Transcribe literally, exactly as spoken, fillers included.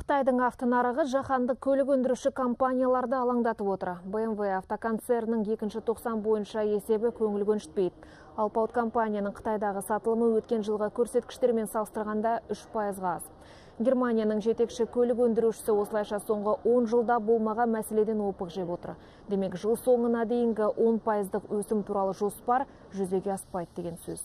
Қытайдың автонарығы жаһандық көлік өндіруші компанияларды алаңдатып отыр. бэ эм вэ автоконцернінің екінші тоқсан бойынша есебі көңіл көншітпейді. Алпауыт компанияның Қытайдағы сатылымы өткен жылға көрсеткіштермен салыстырғанда үш пайызға аз. Германияның жетекші көлік өндірушісі осылайша соңғы он жылда болмаған мәселеден опық жеп отыр. Демек, жыл соңына дейінгі он пайыздық өсім туралы жоспар жүзеге аспайды деген сөз.